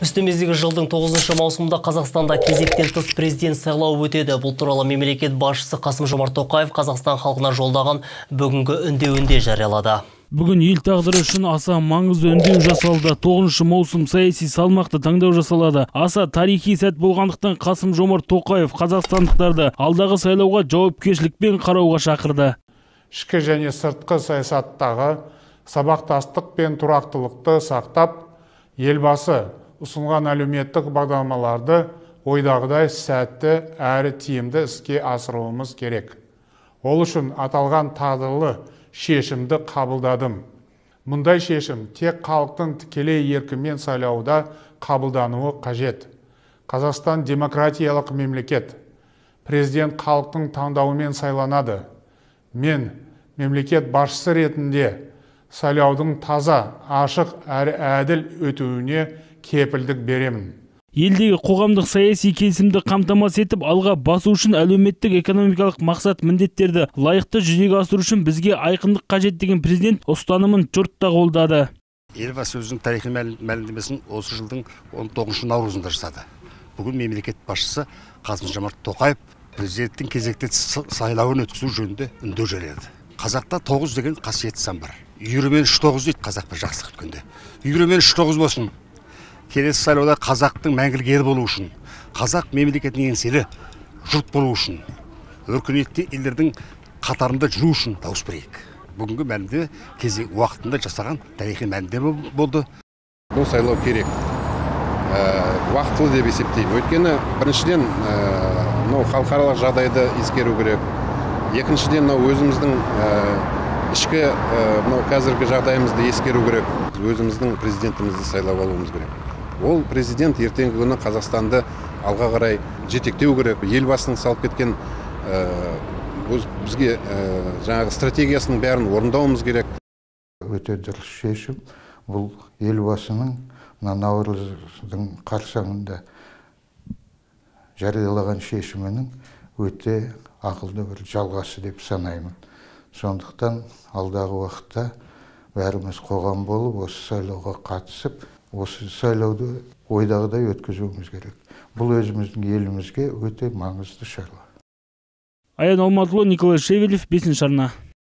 Үстіміздегі жылдың 9 маусымында Қазақстанда кезектен тыс президент сайлауы өтеді. Бұл туралы мемлекет басшысы Қасым-Жомарт Тоқаев Қазақстан халқына жолдаған бүгінгі үндеуінде жариялады. Бүгін ел тағдыры үшін аса маңызды үндеу жасалды. 9 маусым саяси салмақты таңдау жасалады. Аса тарихи сәт болғандықтан Қасым-Жомарт Тоқаев қазақстандықтарды алдағы сайлауға жауапкершілікпен қарауға шақырды. Ішкі және сыртқы саясаттағы сабақтастық пен тұрақтылықты сақтап, елбасы ұсынған әлеуметтік бағдарламаларды ойдағыдай сәтті әрі тиімді іске асыруымыз керек. Ол үшін аталған тағдырлы шешімді қабылдадым. Мұндай шешім тек халықтың тікелей еркімен сайлауда қабылдануы қажет. Қазақстан демократиялық мемлекет. Президент халықтың таңдауымен сайланады. Мен мемлекет басшысы ретінде сайлаудың таза, ашық әрі әділ өтуіне кепілдік беремін. Елдегі қоғамдық саяси келісімді қамтамасыз етіп, алға басу үшін әлеуметтік экономикалық мақсат міндеттерді лайықты жүзеге асыру үшін бізге айқындық қажет деген президент ұстанымын жұртта қолдады. Елбасы өзінің тарихи мәлімдемесін осы жылдың 19 наурызында жасады. Бүгін мемлекет басшысы Қасым-Жомарт Тоқаев президенттің кезекті сайлауын өткізу жөнінде үндеу жариялады. Қазақта 9 деген қасиетті сан бар. Үйірімен 3-9 дейді қазақпен жақсы күткенде. Үйірімен 3-9 болсын. Келесі сайлауда қазақтың мәңгілік ел болу үшін, қазақ мемлекетінің еңселі жұрт болу үшін, өркениетті елдердің қатарында жүру үшін дауыс берейік. Бүгінгі мәлімдеме кезек уақытында жасаған тарихи мәлімдеме болды. Бұл сайлау керек. Уақытылы деп есептеймін. Өйткені біріншіден халықаралық жағдайды ескеру керек. Екіншіден өзіміздің ішкі қазіргі жағдайымызды ескеру керек. Өзіміздің президентімізді сайлап алуымыз керек. Ол президент ертеңгі күні Қазақстанды алға қарай жетектеу керек. Елбасының салып кеткен бізге жаңағы стратегиясының бәрін орындауымыз керек. Өте дұрыс шешім. Бұл елбасының наурыздың қарсаңында жариялаған шешімінің өте ақылды бір жалғасы деп санаймын. Сондықтан алдағы уақытта бәріміз қоғам болып, осы сайлауға қатысып, осы сайлауды ойдағыдай өткізуіміз керек. Бұл өзіміздің елімізге өте маңызды шаруа. Аян Алматұлы, Николай Шевелев, 5-ші арна.